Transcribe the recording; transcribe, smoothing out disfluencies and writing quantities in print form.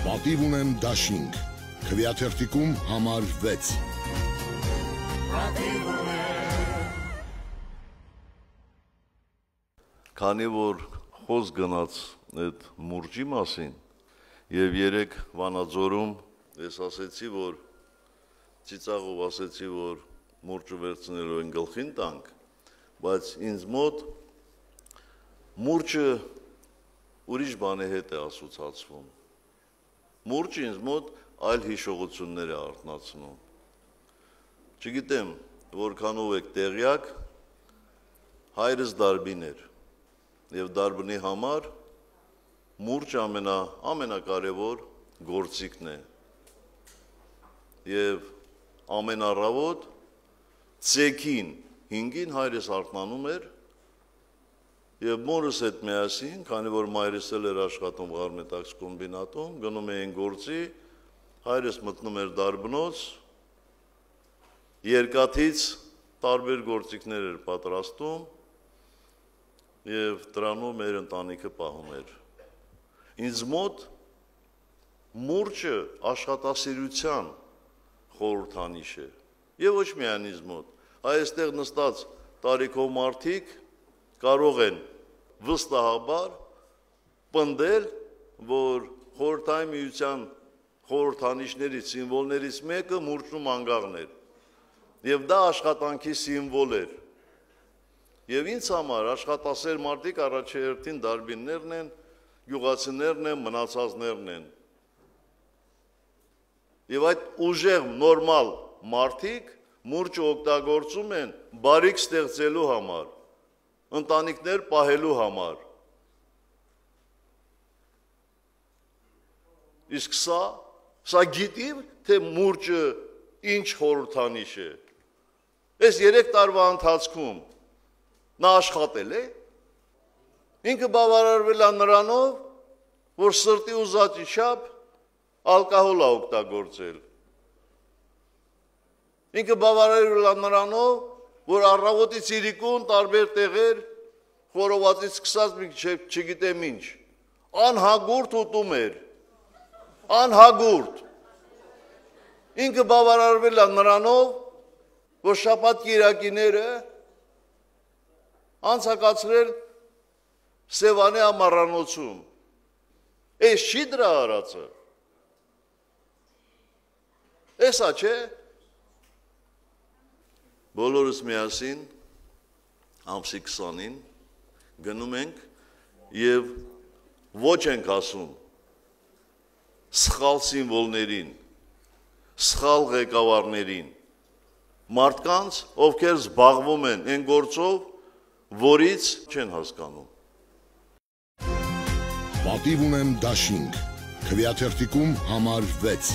Պատիվ ունեմ դաշինք, քվեաթերթիկում համար 6։ Քանի որ խոսք գնաց այդ մուրճի մասին եւ երեք Վանաձորում ես ասեցի, որ ծիծաղով ասեցի, որ մուրճը վերցնելու են գլխին տանք, բայց ինձ մոտ մուրճը ուրիշ բանի հետ է ասոցացվում։ Մուրճը ինձ մոտ այլ հիշողություններ է արթնացնում։ Չգիտեմ, որքանով եք տեղյակ, հայրս դարբին էր եւ դարբնի համար մուրճ ամենակարևոր գործիքն է։ Եվ ամենառավոտ ցեքին 5-ին հայրս արթնանում էր եւ մորս հետ միասին, քանի որ մայրս էլ էր աշխատում Ղարմետաքս կոմբինատում, գնում էին գործի, հայրս մտնում էր դարբնոց, երկաթից տարբեր գործիքներ էր պատրաստում եւ դրանով մեր ընտանիքը պահում էր։ Ինձ մոտ մուրճը աշխատասիրության խորհրդանիշ է եւ ոչ միայն ինձ մոտ, այստեղ նստած տարիքով մարդիկ կարող են վստահաբար պնդել, որ խորհրդային միության խորհրդանիշներից, սիմվոլներից մեկը մուրճն ու մանգաղն էր։ Եվ դա աշխատանքի սիմվոլ էր։ Եվ ինձ համար աշխատասեր մարդիկ առաջերտին դարբիններն են, գյուղացիներն են, մնացածներն են։ Եվ այդ ուժեղ նորմալ մարդիկ մուրճը օգտագործում են բարիք ստեղծելու համար, ընտանիքներ պահելու համար։ Իսկ սա գիտի, թե մուրճը ինչ խորհրդանիշ է։ Այս 3 տարվա ընթացքում նա աշխատել է, ինքը բավարարվել է նրանով, որ սրտի ուզածի չափ ալկոհոլ է օգտագործել։ Ինքը բավարարվել է նրանով, որ առավոտից իրիկուն տարբեր տեղեր խորովածից սկսած չգիտեմ ինչ, անհագուրդ ուտում էր, անհագուրդ։ Ինքը բավարարվել է նրանով, որ շաբաթ կիրակիները անցկացրել Սևանի ամառանոցում։ Էս չի դրա արածը։ Էսա չէ։ Բոլորս միասին ամսի 20-ին գնում ենք եւ ոչ ենք ասում սխալ սիմվոլներին, սխալ ղեկավարներին, մարդկանց, ովքեր զբաղվում են այն գործով, որից չեն հասկանում։ Պատիվ ունեմ դաշինք, քվեաթերթիկում համար 6։